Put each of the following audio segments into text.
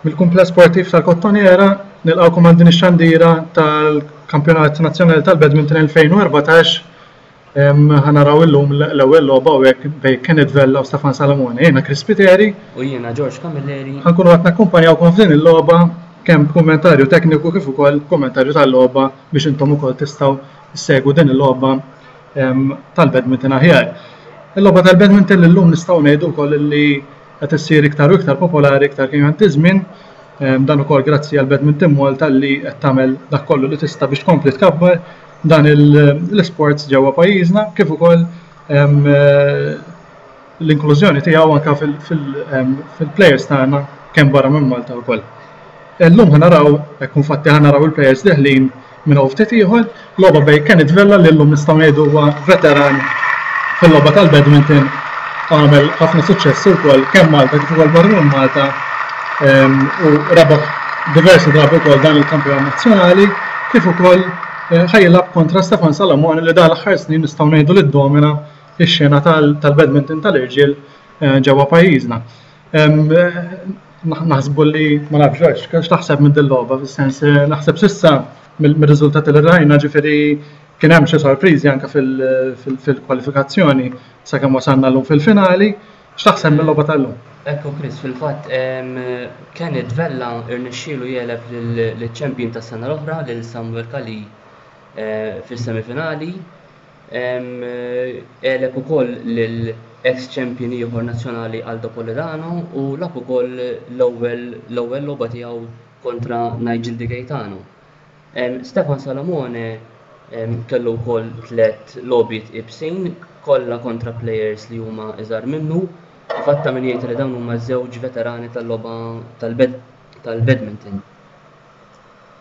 Mill-Kumpless Sportiv tal-Kottonera nilqgħukom għal din ix-xandira tal-Kampjonat Nazzjonali tal-Badminton 2014. Ħa naraw illum l-ewwel logħba hawnhekk bejn Kenneth Vella u Stefan Salamone. Jiena Chris Spiteri. U jiena George Camilleri. Ħa nkunu qed nakkumpanjawkom f'din il-logħba kemm b'kummentarju tekniku kif ukoll kummentarju tal-logħba biex intom ukoll tistgħu ssegwu din il-logħba tal-badminton aħjar. Il-logħba tal-badminton li llum nistgħu ngħidu wkoll li qed issir iktar u iktar popolari iktar kemm jgħaddi żmien, dan ukoll grazzi għal Badminton Malta li qed tagħmel dak kollu li tista' biex tkompli tkabbar dan l-isports ġewwa pajjiżna kif ukoll l-inklużjoni tiegħu anke fil-players tagħna kemm barra minn Malta wkoll. Illum ħa naraw, hekk infatti ħa naraw il-players deħlin minn hawn ftit ieħor, logħba bejn Kenneth Vella li llum nistgħu ngħidu huwa veteran fil-logħba tal-badminton għamel ħafna suċċessi wkoll kemm Malta kif ukoll barra minn Malta ehm, u rebaħ diversi drabi wkoll dan il-kampjonat nazzjonali kif ukoll eh, ħajlab kontra Stefan Salamone li dan l-aħħar snin nistgħu ngħidu li ddomina x-xena tal-badminton tal-irġiel eh, ġewwa pajjiżna. Ehm, Naħsbu li ma nafx Ġorġ, x'taħseb minn din logħba fis-sens eh, naħseb s'issa mir-riżultati li rajna ġifieri kien hemm xi sorpriżi anke fil-kwalifikazzjoni sakemm wasalna llum fil-finali. X'taħseb mill-logħba tal-lum? Ekku Chris, fil-fatt Kenneth Vella rnexxielu jegħleb lill-champion tas-sena l-oħra lil Samuel Calì eh, fis-semifinali. Għeleb ukoll lil eks champion ieħor nazzjonali Aldo Polidano u lagħab ukoll l-ewwel l-ewwel logħba tiegħu kontra Nigel Di Gaetano. Stefan Salamone kellu wkoll tlett logħbiet ibsin kollha kontra players li huma iżgħar minnu. Fatt ta' min jgħid li dawn huma żewġ veterani tal-logħba tal-badminton.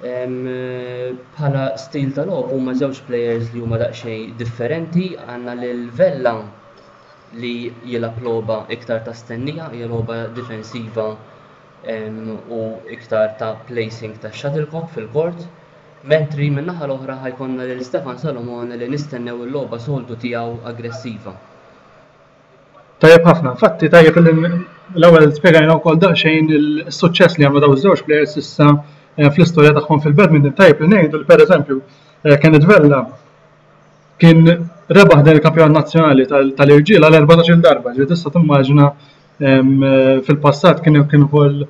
Bħala stil ta' logħob huma żewġ players li huma daqsxejn differenti. Għandna lil Vella li jilgħab logħba iktar ta' stennija, hija logħba difensiva u iktar ta' placing ta' shuttlecock fil-court. Mentri min-naħa l-oħra ħa jkollna lil Stefan Salomone li nistennew il-logħba soltu tiegħu aggressiva. Tajjeb ħafna. Infatti tajjeb li l-ewwel spjegajna wkoll daqsxejn is-suċċess li għamlu dawn iż-żewġ players issa eh, fl-istorja tagħhom fil-badminton. Tajjeb li ngħidu li pereżempju eh, Kenneth Vella kien rebaħ dan il-kampjonat nazzjonali tal-irġiel għal 14-il darba, ġifieri tista' timmaġina eh, fil-passat kien kien ukoll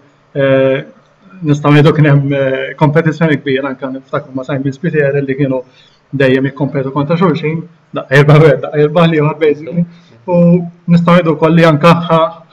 nistgħu ngħidu kien hemm kompetizzjoni kbira anke niftakru ma' Simon Spiteri li kienu dejjem jikkompetu kontra xulxin, daqqa jirbaħ wieħed, daqqa jirbaħ l-ieħor basically. U nistgħu ngħidu wkoll li anke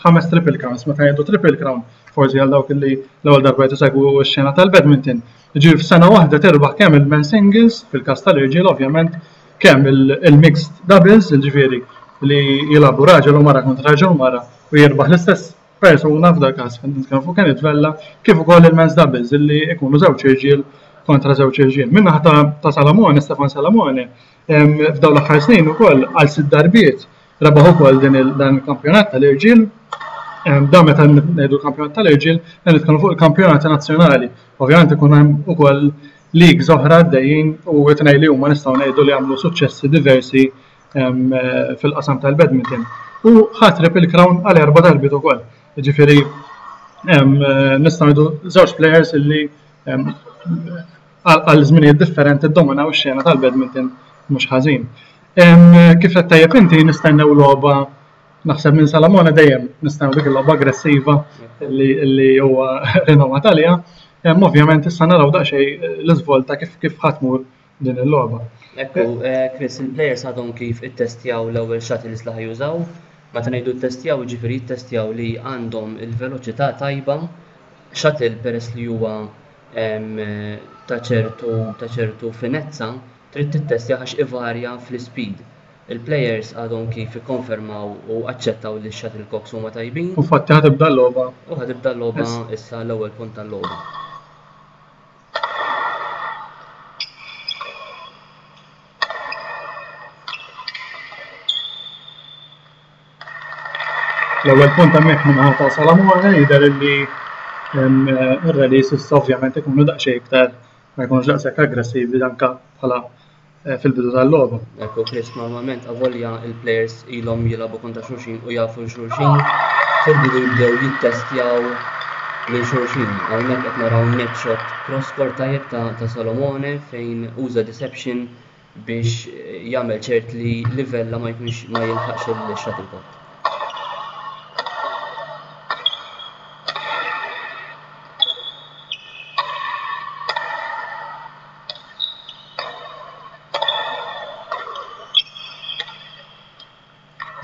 ħames triple crowns, meta ngħidu triple crown, forsi għal dawk li l-ewwel darba qed isegwu x-xena tal-badminton. Ġifieri f'sena waħda terbaħ kemm il-men singles, fil-każ tal-irġiel ovvjament, kemm il-mixed doubles, ġifieri li jilagħbu raġel u mara kontra raġel u mara u jirbaħ l-istess persuna f'dal-każ qed nitkellmu fuq Kenneth Vella, kif ukoll il-men's doubles illi jkunu żewġ irġiel kontra żewġ irġiel. Min-naħa ta', ta Salamone, Stefan Salamone, f'dawn l-aħħar snin ukoll għal sitt darbiet rebaħ ukoll din il, dan il-kampjonat tal-irġiel. Dan meta ngħidu kampjonat tal-irġiel, qed nitkellmu fuq il-kampjonati nazzjonali. Ovvjament ikun hemm ukoll leagues oħra għaddejjin u it-tnejn li huma nistgħu ngħidu li għamlu suċċessi diversi fil-qasam tal-badminton. U ħa triple crown għal erba' darbiet ukoll. Ġifieri nistgħu ngħidu żewġ players illi għal żminijiet differenti ddominaw ix-xena tal-badminton mhux ħażin. Kif qed tajjeb inti nistennew logħba naħseb minn Salamone dejjem nistennew dik il-logħba aggressiva li huwa rinomat għaliha. Ovvjament issa naraw daqsxejn l-iżvolta kif kif ħa tmur din il-logħba. Ekku, eh, Chris, il-players għadhom kif ittestjaw l-ewwel shuttles li ħa jużaw. Meta ngħidu ttestjaw, jiġifieri jittestjaw li għandhom il-veloċità tajba. Shuttle peress li huwa ta' ċertu ta' ċertu finezza, trid tittestjah għax ivarja fl-ispeed. Il-players għadhom kif ikkonfermaw u aċċettaw li x-shuttlecocks huma tajbin. U fatti ħa tibda l-logħba. U ħa tibda l-logħba issa l-ewwel punt tal-logħba. L-ewwel punt hemmhekk min-naħa ta' Salamone jidher illi ir-rallies issa ovvjament ikunu daqsxejn iktar ma jkunux daqshekk aggressivi anke bħala eh, fil-bidu tal-logħba. Ekku Chris, normalment avolja il-players ilhom jilagħbu kontra xulxin u jafu xulxin. Fil-bidu jibdew jittestjaw lil xulxin. Hawnhekk qed naraw net shot cross court tajjeb ta' Salomone fejn uża deception biex jagħmel ċert li li Vella ma jkunx ma jilħaqx il-shuttlecock.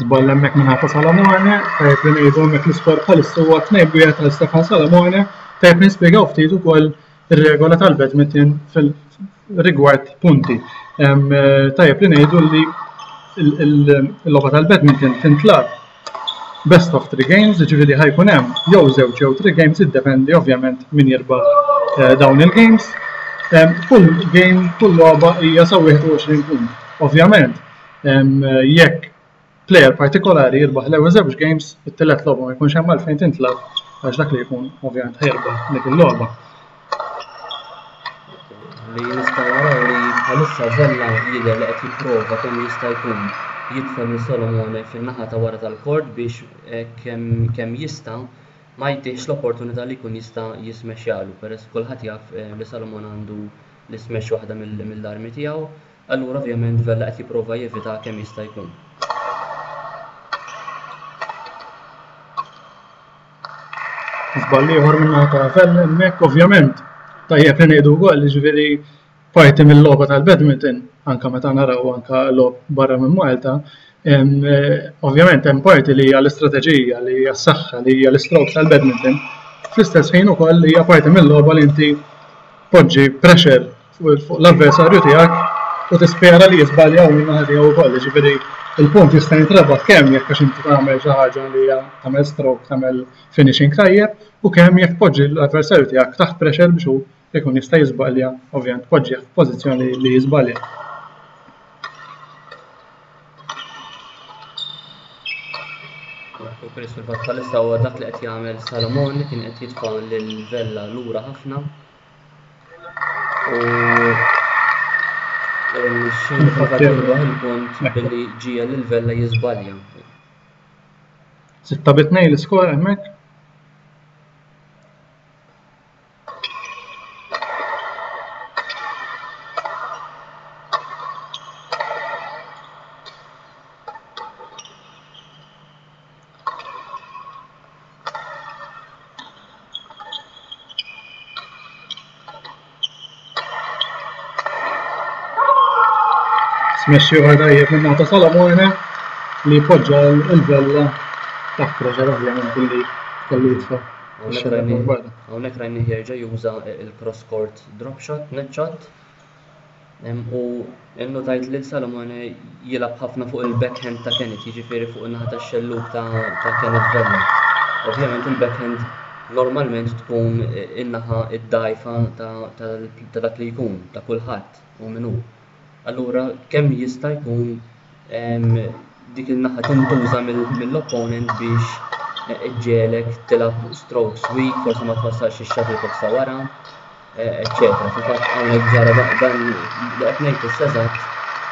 Żball hemmhekk minn ta' Salamone, tajjeb li ngħidu hemmhekk l-iskor bħalissa huwa 2-1 għal Stefan Salamone, tajjeb li nispjegaw ftit ukoll ir-regola tal-badminton fil-rigward punti. Tajjeb li ngħidu li l-logħba tal-badminton tintlagħab best of three games, jiġifieri ħa jkun hemm jew żewġ jew three games, iddependi ovvjament min jirbaħ eh, dawn il-games. Kull game, kull logħba hija sa 21 punt. Ovvjament, jekk player partikolari jirbaħ l-ewwel żewġ games, it-tielet logħba ma jkunx hemm għalfejn tintlagħab għax dak li jkun ovvjament ħa jirbaħ dik il-logħba. Li nistgħu naraw li bħalissa Vella jidher li qed jipprova kemm jista' jkun jitfa' lil Solomone fin-naħa ta' wara tal-kort biex kemm kemm jista' ma jtihx l-opportunità li jkun jista' jismexxjalu peress kulħadd jaf li Solomone għandu l-ismash waħda mill-armi tiegħu. Allura ovvjament Vella qed jipprova jevita kemm jista' jkun. Żball ieħor minn naħa ta' Vella hemmhekk ovvjament tajjeb li ngħidu wkoll jiġifieri parti mill-logħba tal-badminton anke meta naraw anke logħob barra minn Malta, ovvjament hemm parti li hija l-istrateġija, li hija s-saħħa, li hija l-istrokes tal-badminton. Fl-istess ħin ukoll hija parti mill-logħba li inti tpoġġi pressure fuq l-avversarju tiegħek u tispera li jiżbalja hu min-naħa tiegħu wkoll. Jiġifieri il-punt jista' jintrebaħ kemm jekk għax inti tagħmel xi ħaġa li hija tagħmel stroke, tagħmel finishing tajjeb u kemm jekk tpoġġi l-avversarju tiegħek taħt pressure biex hu jkun jista' jiżbalja, ovvjament tpoġġih f'pożizzjoni li jiżbalja. U Chris fil-fatt bħalissa huwa dak li qed jagħmel Salomon li kien qed jitfa' lil Vella lura ħafna. U xejn fil-fatt jirbaħ il-punt billi ġiegħel lil Vella jiżbalja. 6-2 l-iskor hemmhekk. Smash ieħor tajjeb minn ta' Salamone li poġġa l-Vella taħt pressure ovvjament billi kellu jitfa' Hawnhekk rajnih jerġa' juża l-cross court drop shot, net shot. U nnotajt li Salomone jilgħab ħafna fuq il-backhand ta' Kenneth, jiġifieri fuq in-naħa tax-xellug ta' Kenneth Vella. Ovvjament il-backhand normalment tkun in-naħa d-dgħajfa ta' dak li jkun, ta' kulħadd u min hu. Allura kemm jista' jkun dik in-naħa tintuża mill-opponent biex iġġiegħlek tilgħab strokes weak, forsi ma twassalx ix-shuttlecock sa wara, eċċetera. Fil-fatt hawnhekk ġara dan li qed ngħid issa eżatt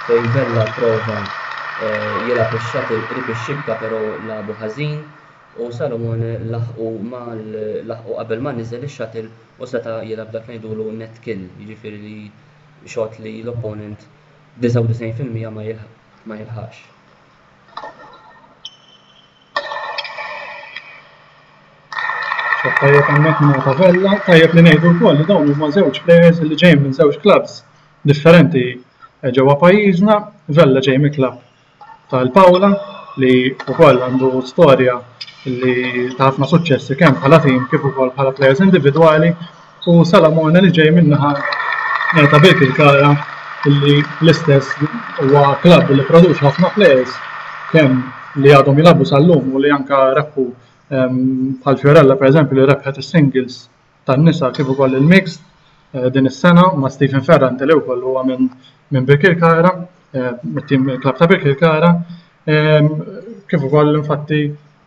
fejn Vella prova jilgħab ix-shuttle qrib ix-xibka però lagħbu ħażin u Salomone laħqu ma laħqu qabel ma niżel ix-shuttle u seta' jilgħab dak li ngħidulu net kill, jiġifieri li shot li l-opponent 99% ma ma jilħaqx. Shot tajjeb hemmhekk minn ta' Vella, tajjeb li ngħidu wkoll li dawn huma żewġ players li ġejjin minn żewġ clubs differenti ġewwa pajjiżna. Vella ġej mill-klabb tal-Paola li wkoll għandu storja li ta' ħafna suċċessi kemm bħala tim kif ukoll bħala players individwali u Salamone li ġej min-naħa ta' Birkirkara li l-istess huwa klabb li produċa ħafna players kemm li għadhom jilagħbu sal-lum u li anka rebħu bħal Fiorella pereżempju li rebħet is-singles tan-nisa kif ukoll il-mixed din is-sena ma' Stephen Ferrante li wkoll huwa minn minn Birkirkara, mit-tim il-klabb ta' Birkirkara, kif ukoll infatti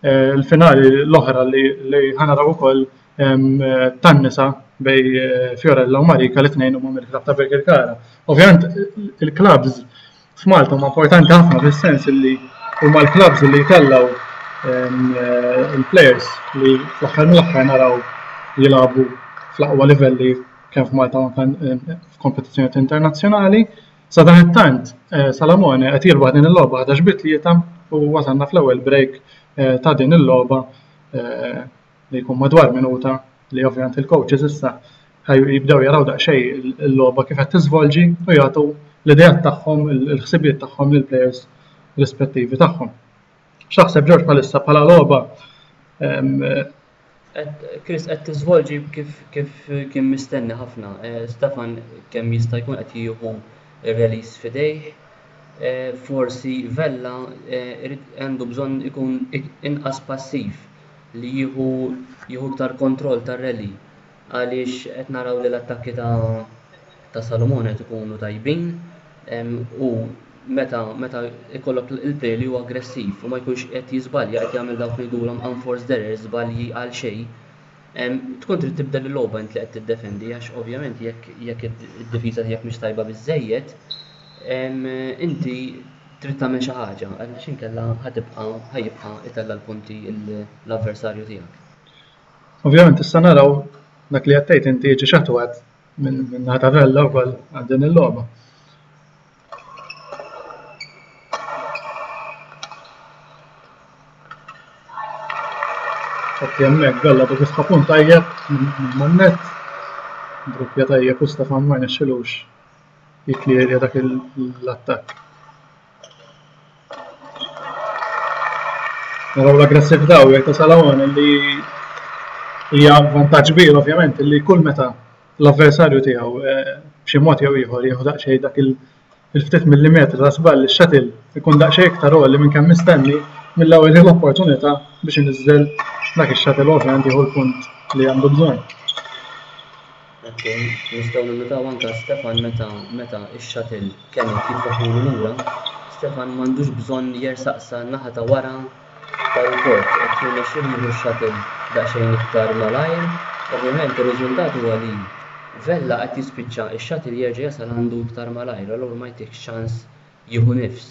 l-finali l-oħra li ħanaraw ukoll tan-nisa bej Fiorella u Marika li tnejn huma mill-klabb ta' Birkirkara. Ovvjament il-klabbs f'Malta huma importanti ħafna fis-sens li huma l-klabbs li jtellgħu. il-players li fl-aħħar mill-aħħar naraw jilagħbu fl-aqwa livelli kemm f'Malta u anke f'kompetizzjonijiet internazzjonali. Sadanittant, Salamone qed jirbaħ din il-logħba 11 bi 3 u wasalna fl-ewwel break ta' din il-logħba li jkun madwar minuta li ovvjament il-coaches issa jibdew jaraw daqsxejn il-logħba kif qed tiżvolġi u jagħtu l-ideat tagħhom, il-ħsibijiet tagħhom lill-players rispettivi tagħhom. X'taħseb Ġorġ bħalissa bħala logħba? Chris qed tiżvolġi kif kif kien mistenni ħafna. Eh, Stefan kemm jista' jkun qed jieħu r-release f'idejh. Eh, forsi Vella eh, għandu bżonn ikun inqas passiv li jieħu jieħu iktar kontroll tar-rally għaliex qed naraw li l-attakki ta' ta' Salomone qed ikunu tajbin u meta meta ikollok il-player li huwa aggressiv u ma jkunx qed jiżbalja qed jagħmel dawk li ngħidulhom unforced errors, żbalji għal xejn, tkun trid tibdel il-logħba int li qed tiddefendi għax ovvjament jekk jekk id-difiża tiegħek mhix tajba biżżejjed, inti trid tagħmel xi ħaġa għaliex inkella ħa tibqa' ħa jibqa' itella' l-punti l-avversarju tiegħek. Ovvjament issa naraw dak li qed tgħid inti jiġi x'attwat minn naħa ta' Vella wkoll għal din il-logħba. Fatti hemmhekk Vella du kif punt tajjeb man-net. Druppja tajjeb u Stefan ma rnexxilux jiklirja dak l-attakk. Naraw l-aggressività u ta' Salawan li hija vantaġġ kbir ovvjament li kull meta l-avversarju tiegħu eh, b'xi mod jew ieħor jieħu daqsxejn dak il-ftit millimetri ta' żball ix-shuttle ikun daqsxejn iktar għoli minn kemm mistenni mill-ewwel l-opportunità biex iniżżel dak ix-shuttle ovvjament jieħu l-punt li għandu bżonn. Ekku, nistgħu ninnutaw anke Stefan meta meta x-shuttle Kenneth jitfaħulu lura, Stefan m'għandux bżonn jersaq sa naħa ta' wara tal-court, qed jirnexxielu jieħu x-shuttle daqsxejn iktar malajr. Ovvjament ir-riżultat huwa li Vella qed jispiċċa x-shuttle jerġa' jasal għandu iktar malajr, allura ma jtihx ċans jieħu nifs.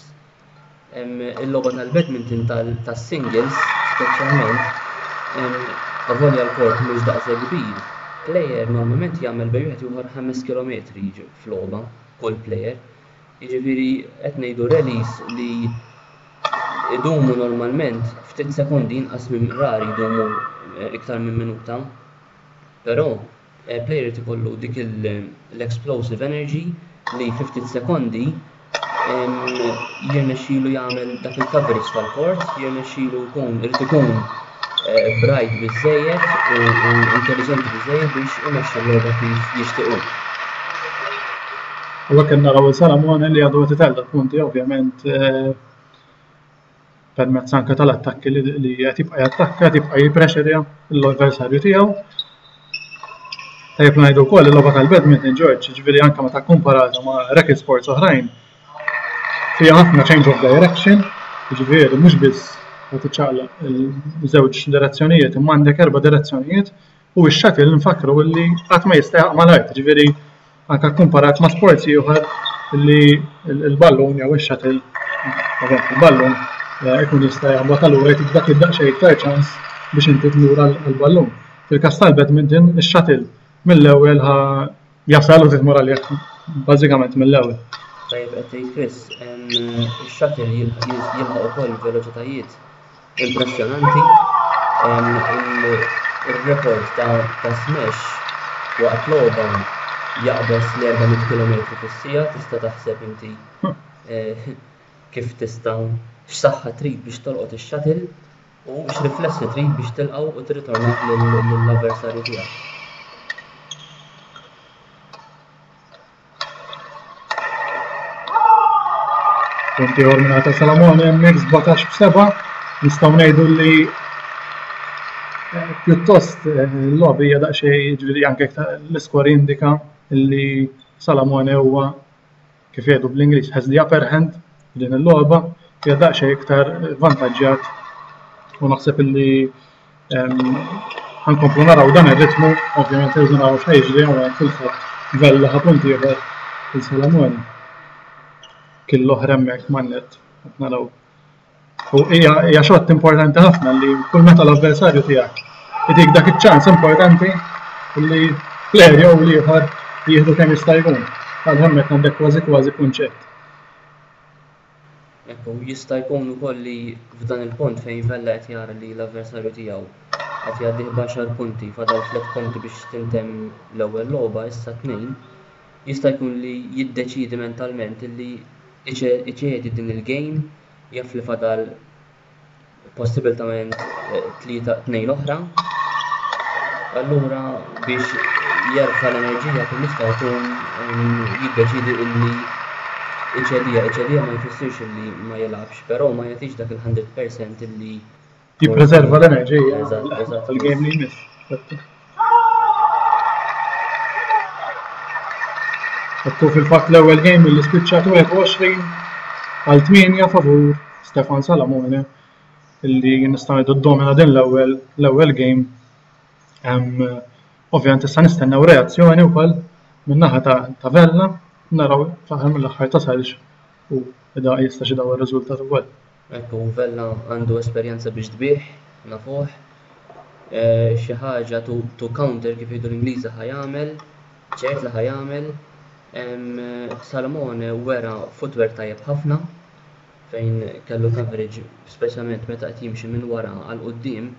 Il-logħba tal-badminton tas-singles speċjalment, avolja l-court mhux daqshekk kbir, player normalment jagħmel bejn wieħed u ieħor 5 kilometri f'logħba, kull player. Jiġifieri qed ngħidu rallies li jdumu normalment ftit sekondi inqas minn rari jdumu iktar minn minuta. Però Player irid ikollu dik l-explosive energy li fi ftit sekondi jirnexxilu jagħmel dak il-coverage tal-court, jirnexxilu jkun irid ikun eh, bright biżejjed u intelligenti biżejjed biex imexxi l-logħba kif jixtieq hu. U hekk naraw il-Salamone li għadu qed itella' punti ovvjament eh, permezz anke tal-attakki li qed jibqa' jattakka, qed jibqa' jipprexerja l-avversarju tiegħu. Tajjeb ngħidu wkoll il-logħba tal-badminton George, ġifieri anke meta kkumparata ma' racket sports oħrajn, fiha ħafna change of direction, ġifieri mhux biss qed tiċċaqlaq il-żewġ direzzjonijiet, imma għandek erba' direzzjonijiet u x-shuttle nfakkru li qatt ma jista' jaqa' mal-art, ġifieri anke kkumparat ma' sports ieħor li l-ballun jew ix-shuttle, il-ballun eh, ikun jista' jaħbat allura jtik dak id-daqsxejn iktar ċans biex inti tmur għall-ballun. Fil-każ tal-badminton, ix-shuttle mill-ewwel ħa jasal u tmur għalih bażikament mill-ewwel. Tajjeb qed tgħid Chris, ix-shuttle jilħaq ukoll veloċitajiet Impressjonanti. Ir-rekord ta' smash waqt logħba jaqbeż l-400 kilometru fis-siegħa, tista' taħseb inti eh, kif tista' x'saħħa trid biex tolqot ix-shuttle u x'riflessi trid biex tilqgħu u tirritornah lill-avversarju tiegħek. Punt ieħor minn ta' Salamone hemmhekk 17 b'seba' nistgħu ngħidu li eh, pjuttost eh, l-logħba hija daqsxejn ġifieri anke l-iskor jindika li Salamone huwa kif jgħidu bl-Ingliż has the upper hand f'din il-logħba hija daqsxejn iktar vantaġġjat u naħseb illi Ħankomplu naraw dan ir-ritmu, ovvjament irridu naraw x'ħa jiġri hawnhekk fil-fatt Vella ħa punt ieħor il Salamone. Kill oħra hemmhekk man-net qed naraw. U hija xott importanti ħafna li kull meta l-avversarju tiegħek itik dak iċ-ċans importanti li player jew l-ieħor jieħdu kemm jista' jkun. Għal hemmhekk għandek kważi kważi kunċett. Ekku, jista' jkun ukoll li f'dan il-punt fejn Vella qed jara li l-avversarju tiegħu qed jgħaddih b'għaxar punti, fadal tliet punti biex tintemm l-ewwel logħba, issa tnejn, jista' jkun li jiddeċiedi mentalment li iċedi din il-game, jaf li fadal possibiltament tlieta tnejn oħra. Allura biex jerfa' l-enerġija kemm jista' jkun jiddeċiedi illi iċedija, iċedija ma jfissirx illi ma jilgħabx, però ma jagħtix dak il-100% illi Jippreserva l-enerġija għall-game li jmiss. Ekku fil-fatt l-ewwel game li spiċċat 21 għal 8 favur Stefan Salamone illi nistgħu ngħidu ddomina din l-ewwel l-ewwel game. Ovvjament issa nistennew reazzjoni wkoll min-naħa ta' Vella naraw fl-aħħar mill-aħħar tasalx u jista' xi dawar riżultat ukoll. Ekku, Vella għandu esperjenza biex tbigħ, nafuh. Xi ħaġa to, to counter kif jgħidu l-Ingliżi ħa jagħmel, ċert li ħa jagħmel. Salomone wera footwork tajjeb ħafna fejn kellu coverage speċjalment meta qed jimxi minn wara għal quddiem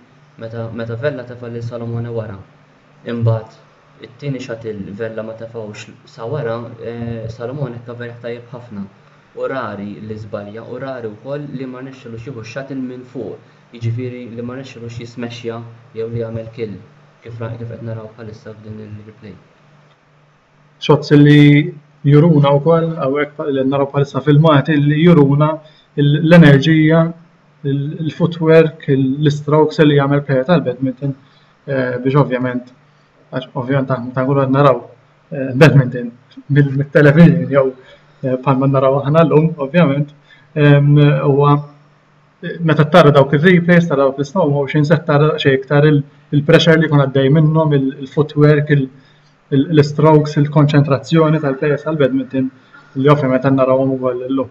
meta meta Vella tefa' lil Salomone wara. Imbagħad it-tieni shuttle Vella ma tefgħux sa wara, Salomone kkaverjah tajjeb ħafna. U rari li żbalja u rari wkoll li ma rnexxilux jieħu x-shuttle minn fuq, jiġifieri li ma rnexxilux jismexxja jew li jagħmel kill, kif kif qed naraw bħalissa f'din il-replay. Shots li juruna wkoll hawnhekk li naraw bħalissa filmati li juruna l-enerġija, il-footwork, l-istrokes li jagħmel player tal-badminton biex ovvjament għax ovvjament aħna meta nkunu qed naraw badminton mit-television jew bħalma naraw aħna llum ovvjament huwa meta tara dawk ir-replays, tara dawk l-slow motion, se tara daqsxejn iktar il-pressure li jkun għaddej minnhom, il-footwork, l-strokes, il-konċentrazzjoni tal-players tal-badminton li ovvjament qed narawhom ukoll illum.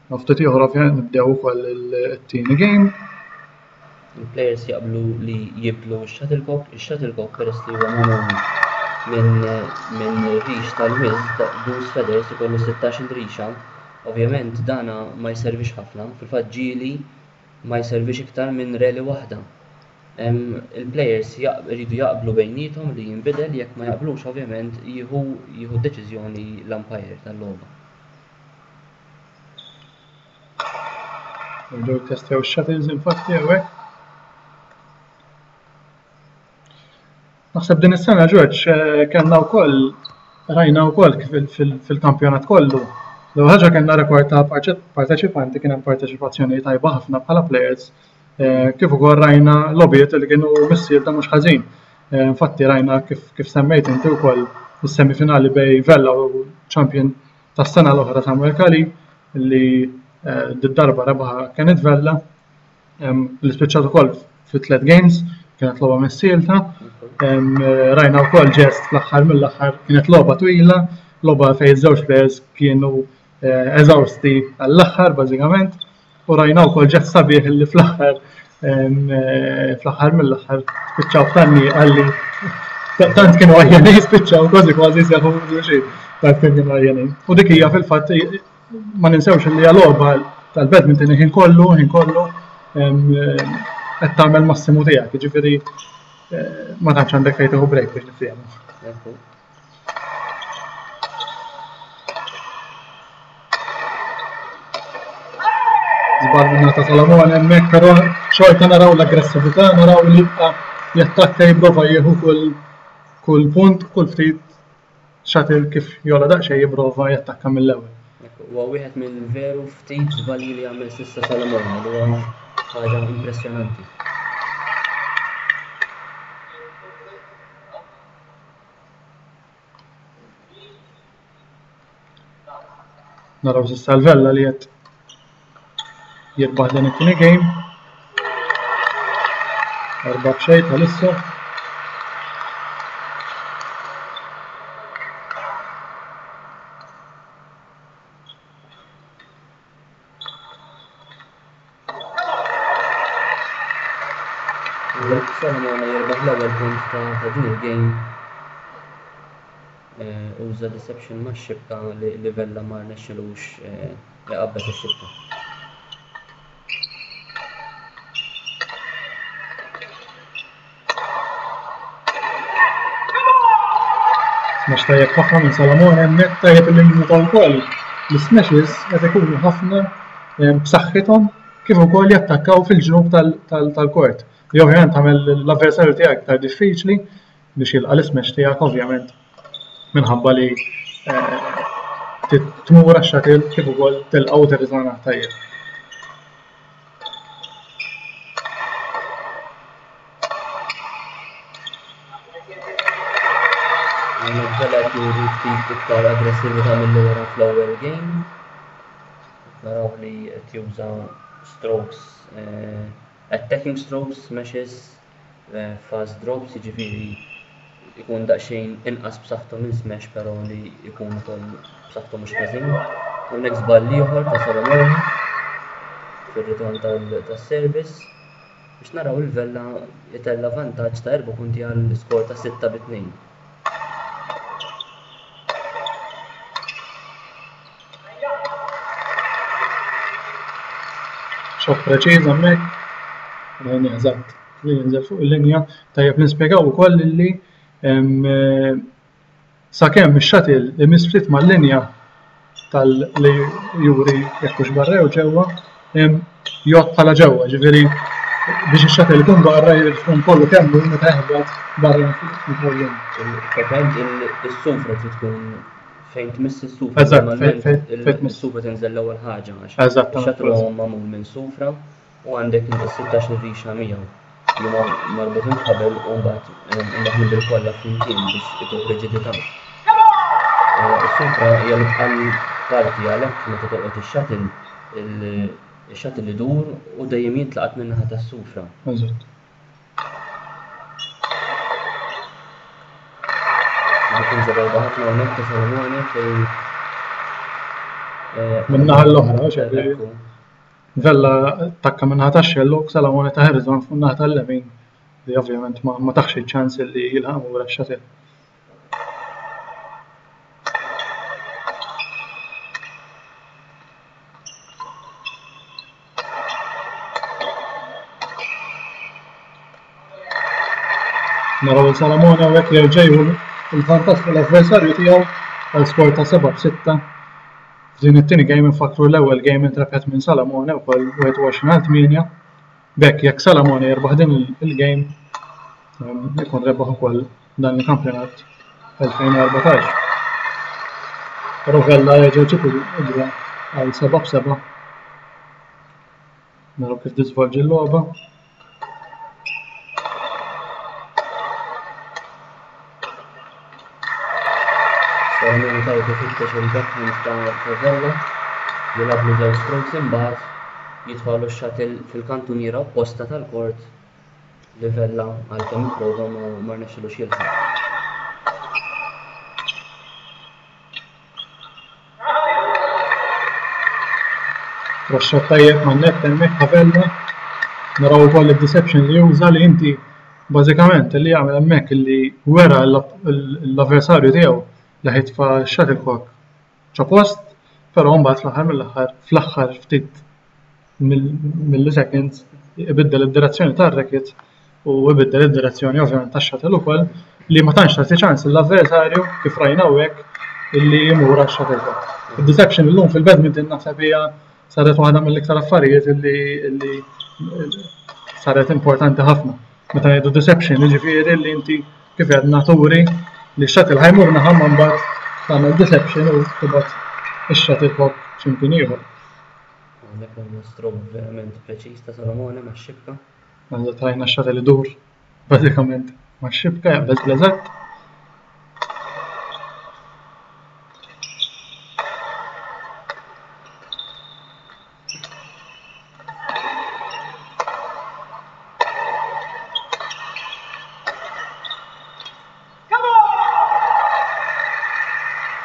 Ftit ieħor ovvjament nibdew ukoll it-tieni game. Il-players jaqblu li jibdlu x-shuttlecock, ix-shuttlecock peress li huwa magħmul minn minn rix tal-wiżż, goose feathers, ikollu 16-il rixa, ovvjament dana ma jservix ħafna, fil-fatt ġieli ma jservix iktar minn rally waħda. Il-players jridu jaqblu bejniethom li jinbidel, jekk ma jaqblux ovvjament jieħu jieħu d-deċiżjoni l-umpire tal-logħba. Nerġgħu jittestjaw ix-shuttles infatti hawnhekk. Naħseb din is-sena Ġorġ eh, kellna wkoll rajna wkoll kif fil-kampjonat kollu. L-ewwel ħaġa kellna rekord ta' parteċipanti kien hemm parteċipazzjoni tajba ħafna bħala players eh, kif ukoll rajna logħbiet li kienu missielta mhux ħażin. Eh, infatti rajna kif, kif semmejt inti wkoll is-semifinali bej Vella u champion tas-sena l-oħra Samuel Cali li eh, d-darba rebaħa Kenneth Vella li spiċċat ukoll fi tliet games kienet logħba missielta. Eh, rajna wkoll ġest fl-aħħar mill-aħħar kienet logħba twila, logħba fejn żewġ players kienu eh, eżawsti għall-aħħar bażikament. U rajna wkoll ġest sabiħ li fl-aħħar eh, fl-aħħar mill-aħħar spiċċaw f'tanni għalli tant kienu għajjenin spiċċaw kważi kważi seħu xejn tant kienu għajjenin. U dik hija fil-fatt ma ninsewx li hija logħba tal-badminton ħin kollu, ħin kollu qed tagħmel massimu tiegħek, jiġifieri eh, ma tantx għandek fejn tieħu break biex niftehmu. Żball minna ta' Salamone hemmhekk, però xorta naraw l-aggressività, naraw li jibqa' jattakka jipprova jieħu kull kull punt, kull ftit shuttle kif jola daqsxejn jipprova jattakka mill-ewwel. Huwa wieħed mill-veru ftit żbalji li għamel s'issa Salamone li huwa ħaġa impressjonanti. Naraw s'issa l-Vella li qed jirbaħ dan it-tieni game. Erba' b'xejn bħalissa. Solomone jirbaħ l-ewwel punt ta' din il-game. Uża deception max-xibka li Vella ma rnexxilux iqabbes ix-xibka. Smash tajjeb ħafna minn Salamone hemmhekk tajjeb li nnuta wkoll li smashes qed ikunu ħafna b'saħħithom kif ukoll jattakkaw fil-ġnub tal-kort. Li ovvjament tagħmel l-avversarju tiegħek iktar diffiċli biex jilqa' l-ismash tiegħek ovvjament minħabba li eh, tmur għax-shuttle kif ukoll tilqa' u tirritorna tajjeb. Għamel qed juri ftit iktar aggressività milli wara fl-ewwel game. Naraw li qed juża strokes, eh, attacking strokes, smashes, eh, fast drops, jiġifieri ikun daqsxejn inqas b'saħħtu minn smash però li jkun ukoll b'saħħtu mhux ħażin. Hawnhekk żball ieħor ta' Solomone fir-ritorn tas-service biex naraw il-Vella jtella' vantaġġ ta' erba' punti għal skor ta' 6 bi 2. Xott preċiż hemmhekk. Rajni eżatt li jinżel fuq il-linja. Tajjeb nispjegaw ukoll li sakemm ix-shuttle imiss ftit mal-linja tal li juri jekk hux barra jew ġewwa, jgħodd bħala ġewwa, ġifieri biex ix-shuttle ikun barra jrid ikun kollu kemm hu meta jaħbat barra mill-linja. Pratikament is-sufra trid tkun fejn tmiss is-sufra. Eżatt, fejn tmiss. Is-sufra tinżel l-ewwel ħaġa għax ix-shuttle huwa magħmul minn sufra u għandek inti 16 rixa miegħu li huma marbutin f'ħabel u mbagħad imdaħħlin bil-kolla flimkien biex ituh riġidità. Is-sufra hija l-itqal parti għalhekk meta tolqot ix-shuttle, ix-shuttle idur u dejjem jintlaqat min-naħa tas-sufra. Eżatt. Difiża tajba ħafna hawnhekk ta' Salomone fejn Min-naħa l-oħra, ġifieri. Vella attakka min-naħa tax-xellug, Salamone ta' Harrison fuq in-naħa tal-lemin li ovvjament ma taħx iċ-ċans li jilħaq lura x-shuttle. Naraw il-Salamone hawnhekk jerġa' jieħu l-vantaġġ fuq l-avversarju tiegħu għal skor ta' 7 b'6. F'din it-tieni game infakkru l-ewwel game intrebħet minn Salamone wkoll 21 għal 8. B'hekk jekk Salamone jirbaħ din il-game ikun rebaħ ukoll dan il-kampjonat 2014. Però Vella jerġa' jġib il-draw għal 7 b'7. Naraw kif tiżvolġi l-logħba. Salamone tajjeb ifittex il-backhand ta' Vella, jilgħablu żewġ strokes imbagħad jitfagħlu x-shuttle fil-kantuniera opposta tal-court li Vella għalkemm ipprova ma rnexxilux jilħaq. Roxxat tajjeb man-net hemmhekk Havella. Naraw ukoll id-deception li juża li inti bażikament li jagħmel hemmhekk li wera l-avversarju tiegħu li ħitfa shuttlecock ġo post, però mbagħad fl-aħħar mill-aħħar fl-aħħar ftit milliseconds ibiddel id-direzzjoni tar-racket u ibiddel id-direzzjoni ovvjament tax-shuttle ukoll li ma tantx tagħti ċans lill-avversarju kif rajna hawnhekk illi jmur għax-shuttlecock. Id-deception illum fil-badminton naħseb hija saret waħda mill-iktar affarijiet illi illi saret importanti ħafna. Meta ngħidu deception, jiġifieri li inti kif għedna turi li x-shuttle ħajmur naħa ma mbagħad tagħmel deception u tibgħat ix-shuttlecock x'imkien ieħor. Hawnhekk għandna stroke verament preċiż ta' Salomone max-xibka. Għandha trajna x-shuttle idur bażikament max-xibka jaqbeż l-eżatt.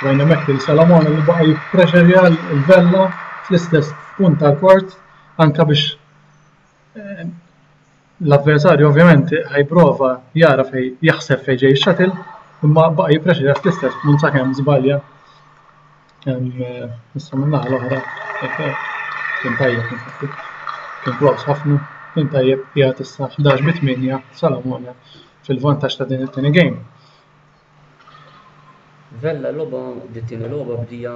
Rajna hemmhekk lil Salamone li baqa' jipprexerja l-Vella fl-istess punt tal-kort anke biex eh, L-avversarju ovvjament ħa jipprova jara fejn jaħseb fejn ġej ix-shuttle, imma baqa' jippreċida fl-istess punt sakemm żbalja. Issa min-naħa l-oħra kien tajjeb infatti. Kien close ħafna, kien tajjeb qiegħed issa 11 bi 8 Salamone fil-vantaġġ ta' din it-tieni game. Vella logħba dit-tieni logħba bdija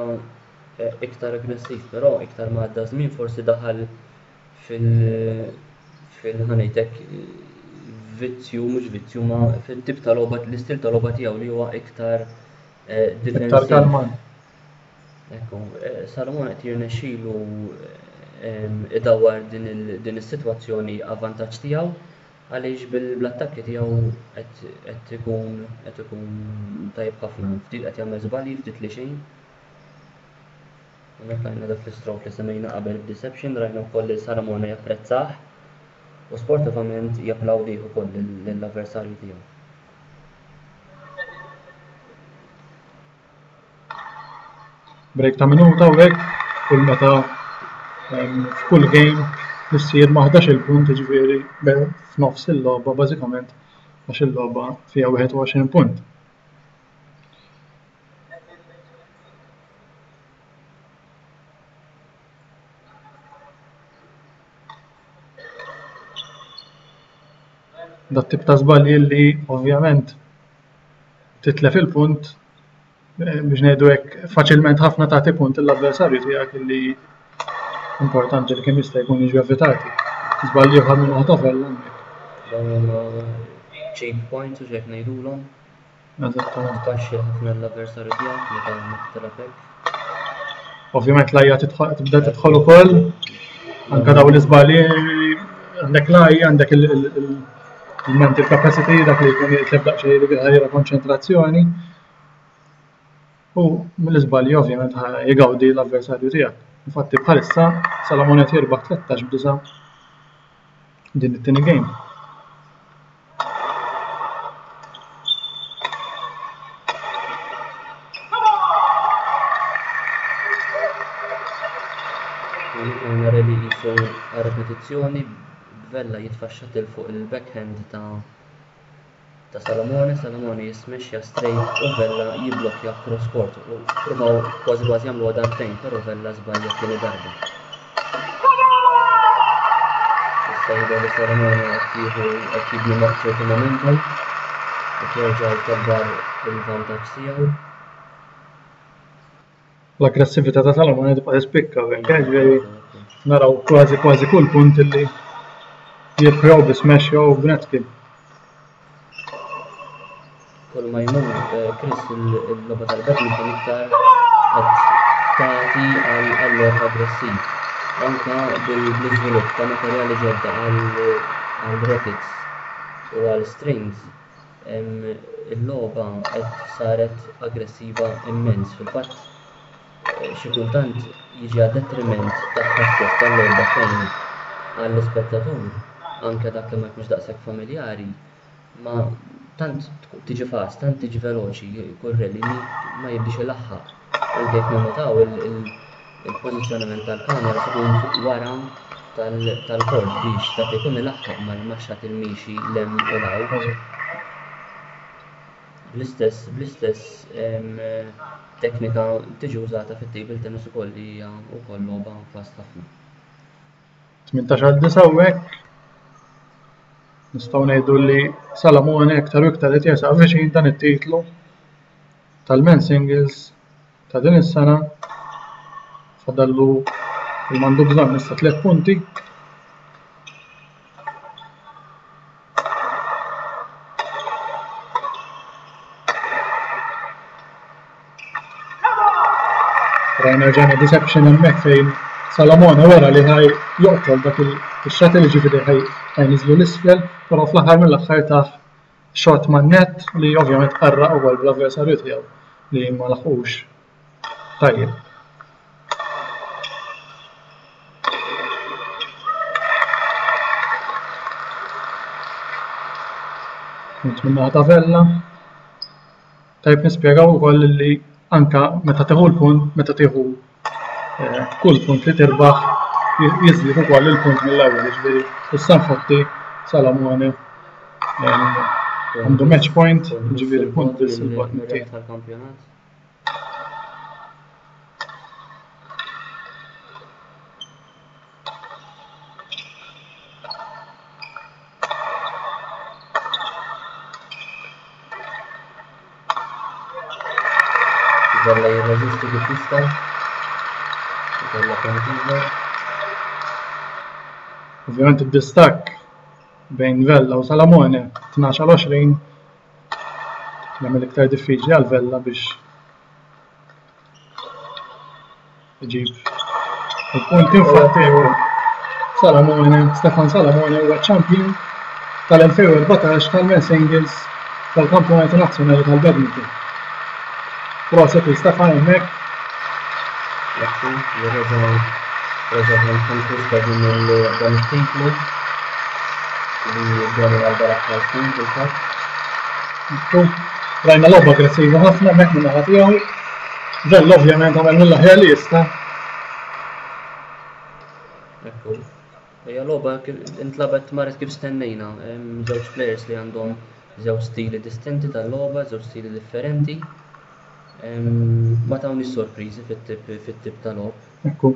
iktar aggressiv, però iktar ma għadda żmien forsi daħal fil fil ħa ngħidlek vizzju mhux vizzju ma fit-tip ta' logħba l-istil ta' logħba tiegħu li huwa iktar eh, Iktar kalman. Ekku, eh, Salomon qed jirnexxilu eh, idawwar din is-sitwazzjoni avvantaġġ tiegħu għaliex bil-attakki tiegħu qed ikun qed ikun tajjeb ħafna, ftit qed jagħmel żbalji, ftit li xejn. Hawnhekk rajna dak l-istroke li semmejna qabel b'deception, rajna wkoll li Salamone japprezzah u sportivament japplawdih ukoll lill-avversarju tiegħu. Break ta' minuta u hekk kull meta f'kull game issir ma' 11-il punt jiġifieri f'nofs il-logħba bażikament għax il-logħba fiha 21 punt. Dat tip ta' żbalji li ovvjament titlef il-punt eh, biex ngħidu hekk faċilment ħafna tagħti punt l-avversarju tiegħek li importanti li kemm jista' jkun jiġu evitati. Żbalji ieħor minn waħda Vella hemmhekk. Dawn huma cheap points u x'hekk ngħidulhom. Eżattament. Tpaxxi ħafna l-avversarju tiegħek meta meta tilgħab hekk. Ovvjament l-għajja tibda tidħol ukoll. Anka dawn l-iżbalji għandek l-għajja, għandek il-mental capacity, dak li jkun jitlef daqsxejn dik il-ħajra konċentrazzjoni. U mill-iżbalji ovvjament jgawdi l-avversarju tiegħek. Infatti bħalissa Salamone qed jirbaħ 13 b'disa' din it-tieni game. Hawnhekk rally qisu repetizzjoni b'Vella jitfa' x-shuttle fuq il-backhand ta' ta' Salamone, Salamone jismexxja straight u Vella jibblokkja cross court u ppruvaw kważi kważi jagħmluha darbtejn però Vella żbalja t-tieni darba. Issa jidher li Salamone qed jieħu qed jibni ċertu momentum qed jerġa' jkabbar il-vantaġġ tiegħu. L-aggressività ta' Salamone tibqa' tispikka hawnhekk, eh, ġifieri naraw kważi kważi kull punt illi jirbħu bi smash jew b'net kill. Kull ma jmur, eh, Chris, il-logħba tal-badminton iktar qed tagħti għal logħob aggressiv. Anka bil-iżvilupp ta' materjali ġodda għal rackets u għal strings, il-logħba qed saret aggressiva immens. Fil-fatt, xi kultant jiġi għad-detriment tagħha stess tal-logħba fejn għall-ispettatur, anke dak li ma jkunx daqshekk familjari, ma tant tiġi fast, tant tiġi veloċi kull rally li ma jibdiex ilaħħaq. Anke jekk ninnotaw il-pożizzjonament tal-kamera tkun fuq wara tal-kort biex dak li jkun ilaħħaq mal-maxxat il-miexi 'l hemm u 'l hawn. Bl-istess bl-istess teknika tiġi użata fit-table tennis ukoll li hija wkoll logħba fast ħafna. 18 għal 9 u hekk nistgħu ngħidu li Salamone iktar u iktar qed jersaq viċin dan it-titlu tal-men singles ta' din is-sena fadallu il m'għandu bżonn issa tliet punti. Rajna rġajna deception hemmhekk fejn Salamone wera li ħaj joqtol dak il-shuttle ġifieri ħaj niżlu l-isfel, però fl-aħħar mill-aħħar tah shot man-net li ovvjament qarraq ukoll bl-avversarju tiegħu li ma laħqux tajjeb. Punt min-naħa ta' Vella. Tajjeb nispjegaw ukoll li anka meta tieħu l-punt, meta tieħu eh, kull punt li tirbaħ jiżdied ukoll il-punt mill-ewwel, jiġifieri issa infatti. Salamone għandu match point, ġifieri punt biss il-bogħod mit-tieni. Tal-kampjonat. Vella jirreżisti kif jista'. Vella punt ieħor. Ovvjament id-distakk bejn Vella u Salamone 12 għal 20 jagħmel iktar diffiċli għal Vella biex iġib il-punti infatti Salamone, Stefan Salamone huwa champion tal-2014 tal-men singles tal-Kampjonati Nazzjonali tal-Badminton. Proset lil Stefan hemmhekk. Ekku, li reġa' reġa' kien konkwista din dan it-titlu li domina għal dal-aħħar snin fil-fatt. Ekku, rajna logħba aggressiva ħafna hemmhekk min-naħa tiegħu. Vella ovvjament għamel mill-aħjar li jista'. Ekku. Hija logħba intlabet marret kif stennejna. Żewġ players li għandhom żewġ stili distinti tal-logħba, żewġ stili differenti. Ma tawniex sorpriżi fit-tip fit-tip ta' logħob. Ekku.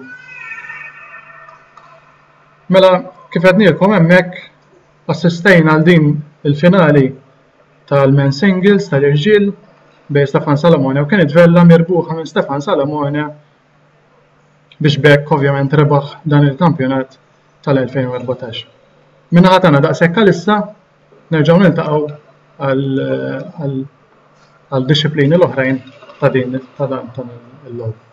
Mela, kif għednielkom hemmhekk assistejna għal din il-finali tal-men singles tal-irġiel bejn Stefan Salamone u Kenneth Vella mirbuħa minn Stefan Salamone biex b'hekk ovvjament rebaħ dan il-kampjonat tal-2014. Min-naħa tagħna daqshekk għalissa nerġgħu niltaqgħu għal dixxiplini l-oħrajn ta' din ta' dan il-logħob.